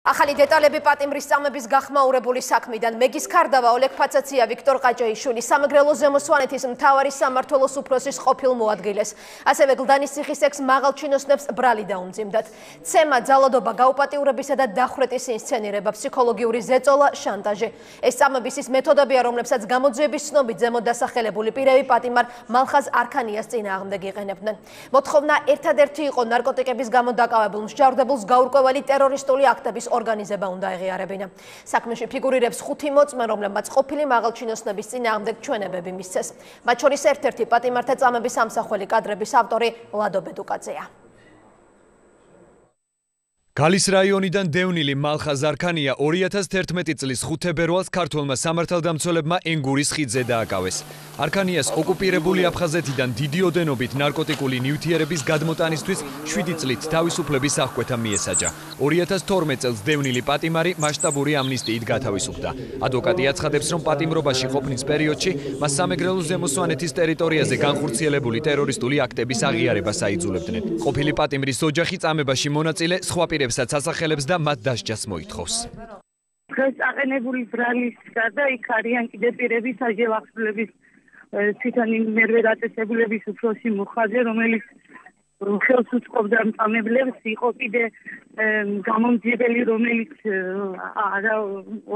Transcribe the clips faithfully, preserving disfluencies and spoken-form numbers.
ახალი დეტალები პატიმრის წამების გახმაურებული საქმიდან მეგის ქარდავა ოლეგ ფაცაცია ვიქტორ ყაჭაიშვილი სამეგრელო ზემოსვანეთის მთავარი სამმართველოს უფროსის ყოფილ მოადგილეს. ასევე გლდანის ციხის ექს მაღალჩინოსნებს ბრალი დაუმძიმდათ. ცემა, ძალადობა, გაუპატიურებისა და დახვრეტის ინსცენირება, ფსიქოლოგიური ზეწოლა, შანტაჟი. ეს წამების ის მეთოდებია, რომლებსაც გამოძიების ცნობით ზემოთ დასახელებული პირები პატიმარ მალხაზ არქანიას წინააღმდეგ იყენებდნენ. მოთხოვნა ერთადერთი იყო ნარკოტიკების გამო დაკავებულ მსჯავრდებულს გაურკვეველი ტერორისტული აქტების ორგანიზება უნდა ეღიარებინა. საქმეში ფიგურირებს ხუთი მოწმე, რომლებმაც ყოფილი მაღალჩინოსნების წინააღმდეგ ჩვენებები მისცეს. მათ შორის ერთ-ერთი პატიმართა წამების ამსახველი კადრების ავტორი ლადო ბედუკაძეა. გალის რაიონიდან დევნილი მალხაზ არქანია ორი ათას თერთმეტი წლის ხუთ თებერვალს ქართველმა სამართალდამცველებმა ენგურის ხიდზე დააკავეს. არქანიას ოკუპირებული აფხაზეთიდან დიდი ოდენობით ნარკოტიკული ნივთიერების გადმოტანისთვის შვიდი წლით თავისუფლების აღკვეთა მიესაჯა. ორი ათას თორმეტ წელს დევნილი პატიმარი მასშტაბური ამნისტიით გათავისუფლდა. ადვოკატი აცხადებს, რომ პატიმრობაში ყოფნის პერიოდში მას სამეგრელო ზემოსვანეთის ტერიტორიაზე განხორციელებული ტერორისტული აქტების აღიარება საიძულებდნენ. ყოფილი პატიმრის ოჯახი წამებაში მონაწილე სხვა პირებსაც ასახელებს და მათ დასჯას მოითხოვს. დღეს აყენებული ბრალის გარდა იქ არიან კიდევ პირები საჯელახსულების თვითონ მერვე დაწესებულების უფროსი მუხაძე, რომელიც ხელს უწყობდა წამებლებს, იყო კიდე გამომძიებელი, რომელიც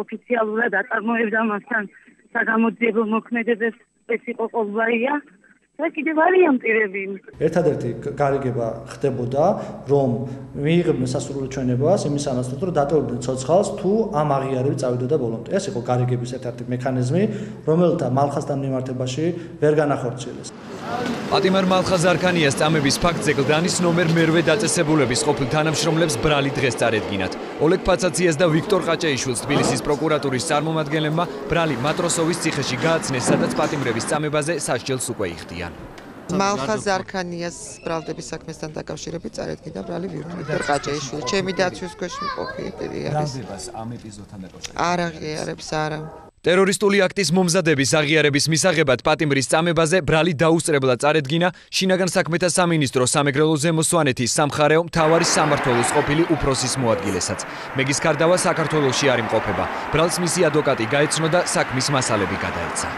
ოფიციალურად აწარმოებდა მასთან საგამოძიებო მოქმედებებს, ეს იყო ყოლბაია. და კიდევ არიან პირები. ერთადერთი გარიგება ხდებოდა, რომ მიიღებდნენ სასურველი ჩვენებას იმისამაც, რომ დატოვებდნენ ცოცხალს თუ ამ აღიარებით წავიდოდა ბოლომდე. ეს იყო გარიგების ერთ-ერთი მექანიზმი, რომელთა მალხაზთან მიმართებაში ვერ განახორციელეს. პატიმარ მალხაზ არქანიას წამების ფაქტზე გლდანის ნომერ მერვე დაწესებულების ყოფილ თანამშრომლებს ბრალი დღეს წარედგინათ. ოლეგ ფაცაციას და ვიქტორ ყაჭაიშვილს თბილისის პროკურატურის წარმომადგენლებმა ბრალი მატროსოვის ციხეში გააცნეს, სადაც პატიმრების წამებაზე სასჯელს უკვე იხდიან. მალხაზ არქანიას ბრალდების საქმესთან დაკავშირებით წარედგინა ბრალი ვიქტორ ყაჭაიშვილი. ჩემი დაცვის ქვეშ მყოფი პირი არის. ბრალდებას ამ ეპიზოდთან დაკავშირებით არ აღიარებს არა. ტერორისტული აქტის მომზადების აღიარების მისაღებად პატიმრის წამებაზე ბრალი დაუსწრებლად წარედგინა შინაგან საქმეთა სამინისტრო სამეგრელო ზემოსვანეთის სამხარეო მთავარი სამმართველოს ყოფილი უფროსის მოადგილესაც. მეგის ქარდავა საქართველოში არ იმყოფება. ბრალს მისი ადვოკატი გაეცნო და საქმის მასალები გადაეცა.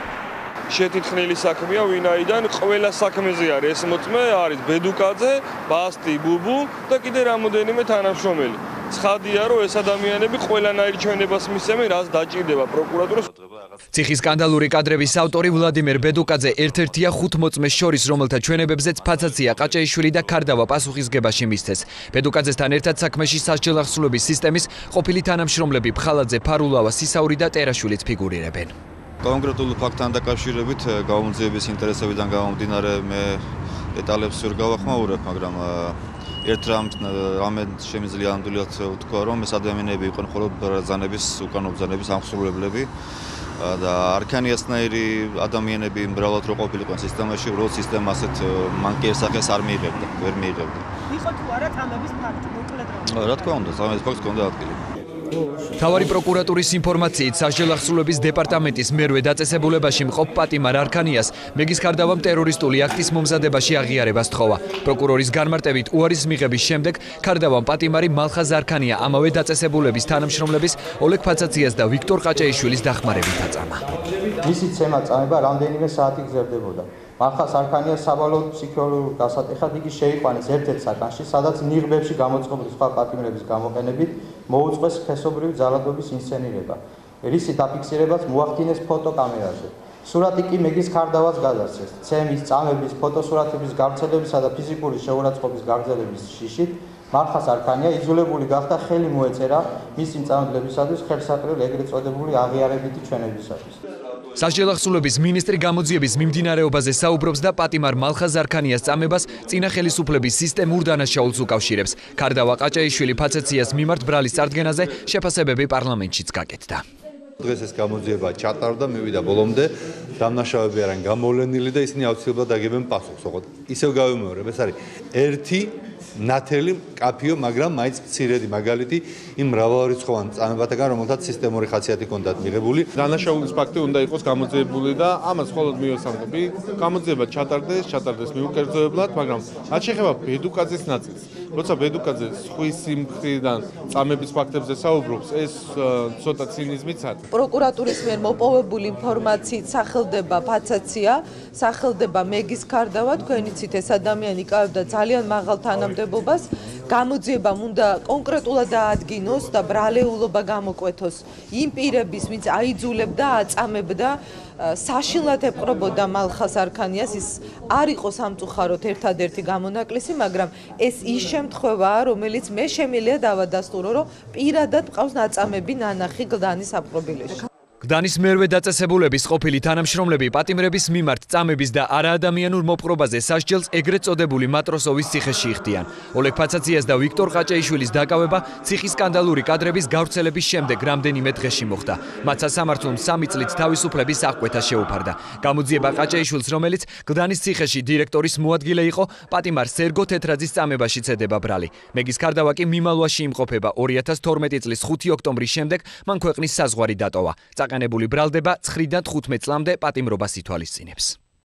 შეთითხნილი საქმეა, ვინაიდან ყველა საქმეზე არის ეს მოწმე, არის ბედუკაძე, ბასტი, ბუბუ და კიდე რამოდენიმე თანამშრომელი. ცხადია, რომ ეს ადამიანები ყველანაირ ჩვენებას მისცემენ, რაც დაჭირდება პროკურატურას. ციხის სკანდალური კადრების ავტორი ვლადიმერ ბედუკაძე ერთ-ერთია ხუთ მოწმეს შორის, რომელთა ჩვენებებზეც ფაცაცია, ყაჭაიშვილი და ქარდავა პასუხისგებაში მისცეს. ბედუკაძესთან ერთად საქმეში სასჯელახსულების სისტემის ყოფილი თანამშრომლები ფხალაძე, ფარულავა, სისაური და ტერაშვილიც ფიგურირებენ. კონკრეტულ ფაქტთან დაკავშირებით გამოძიების ინტერესებიდან გამომდინარე მე დეტალებს ვერ გავახმაურებ, მაგრამ ერთ რამე შემიძლია ამდვილად ვთქვა, რომ ეს ადამიანები იყვნენ მხოლოდ ბრძანების უკანონო ბრძანების აღმსრულებლები და არქანიასნაირი ადამიანები მრავლად რო ყოფილიყო სისტემაში, უბრალოდ სისტემა ასეთ მანკიერ სახეს არ მიიღებდა, ვერ მიიღებდა. იყო თუ არა წამების ფაქტი, მოკლედ რომ. რა თქმა უნდა, წამების ფაქტი ჰქონდა ადგილი. მთავარი პროკურატურის ინფორმაციით სასჯელახსულების დეპარტამენტის მერვე დაწესებულებაში მყოფ პატიმარ არქანიას მეგის ქარდავამ ტერორისტული აქტის მომზადებაში აღიარებას თხოვა. პროკურორის განმარტებით უარის მიღების შემდეგ ქარდავამ პატიმარი მალხაზ არქანია ამავე დაწესებულების თანამშრომლების ოლეგ ფაცაციას და ვიქტორ ყაჭაიშვილის დახმარებით აწამა. მისი ცემა წამება რამდენიმე საათი გრძელდებოდა. მალხაზ არქანიას საბოლოოდ ფსიქოლოგიურ გასატეხად იგი შეიყვანეს ერთ-ერთ საკანში, სადაც ნიღბებში გამოწყობილი სხვა პატიმრების გამოყენებით მოუწყვეს სქესობრივი ძალადობის ინსცენირება. რისი დაფიქსირებაც მოახდინეს ფოტოკამერაზე. სურათი კი მეგის ქარდავას გადასცეს. ცემის, წამების, ფოტოსურათების გავრცელებისა და ფიზიკური შეურაცხყოფის გაგრძელების შიშით მალხაზ არქანია იძულებული გახდა ხელი მოეწერა მისი მწამებლებისათვის ხელსაყრელ ეგრეთ წოდებული აღიარებითი ჩვენებისათვის. სასჯელახსულების მინისტრი გამოძიების მიმდინარეობაზე საუბრობს და პატიმარ მალხაზ არქანიას წამებას წინა ხელისუფლების სისტემურ დანაშაულს უკავშირებს. ქარდავა ყაჭაიშვილი ფაცაციას მიმართ ბრალის წარდგენაზე შეფასებები პარლამენტშიც გაკეთდა. დღეს ეს გამოძიება ჩატარდა, მივიდა ბოლომდე, დამნაშავეები არიან გამოვლენილი და ისინი აუცილებლად აგებენ პასუხს. ოღონდ ისევ გავიმეორებ, ეს არის ერთი ნათელი კაფიო, მაგრამ მაინც მცირედი მაგალითი იმ მრავალრიცხოვან წამებათაგან, რომელთაც სისტემური ხასიათი ჰქონდათ მიღებული. დანაშაულის ფაქტი უნდა იყოს გამოძიებული და ამას მხოლოდ მივესალმები. გამოძიება ჩატარდეს, ჩატარდეს მიუკერძოებლად, მაგრამ რაც შეეხება ბედუკაძის ნაწილს, როცა ბედუკაძე სხვის სიმხრიდან წამების ფაქტებზე საუბრობს, ეს ცოტა ცინიზმიც არის. პროკურატურის მიერ მოპოვებული ინფორმაციით სახელდება ფაცაცია, სახელდება მეგის ქარდავა, თქვენ იცით ეს ადამიანი იკავებდა ძალიან მაღალ თანამდებობას, გამოძიებამ უნდა კონკრეტულად დაადგინოს და ბრალეულობა გამოკვეთოს იმ პირების, ვინც აიძულებდა, აწამებდა, საშინლად ეპყრობოდა მალხას არქანიას, ის არ იყო სამწუხაროდ ერთადერთი გამონაკლისი, მაგრამ ეს ის შემთხვევაა, რომელიც მე შემიძლია დავადასტურო, რომ პირადად მყავს ნაწამები ნანახი გლდანის საპყრობილეში. გლდანის მერვე დაწესებულების ყოფილი თანამშრომლები პატიმრების მიმართ წამების და არაადამიანურ მოპყრობაზე სასჯელს ეგრეთ წოდებული მატროსოვის ციხეში იხდიან. ოლეგ ფაცაციას და ვიქტორ ყაჭეიშვილის დაკავება ციხის სკანდალური კადრების გავრცელების შემდეგ რამდენიმე დღეში მოხდა. მათ სასამართლომ სამი წლით თავისუფლების აღკვეთა შეუფარდა. გამოძიება ყაჭეიშვილს, რომელიც გლდანის ციხეში დირექტორის მოადგილე იყო, პატიმარ სერგო თეთრაძის წამებაში ცედება ბრალი. მეგის ქარდავა კი მიმალვაში იმყოფება. ორი ათას თორმეტი წლის ხუთი ოქტომბრის შემდეგ მან ქვეყნის საზღვარი დატოვა. აყენებული ბრალდება ცხრიდან თხუთმეტ წლამდე პატიმრობას ითვალისწინებს.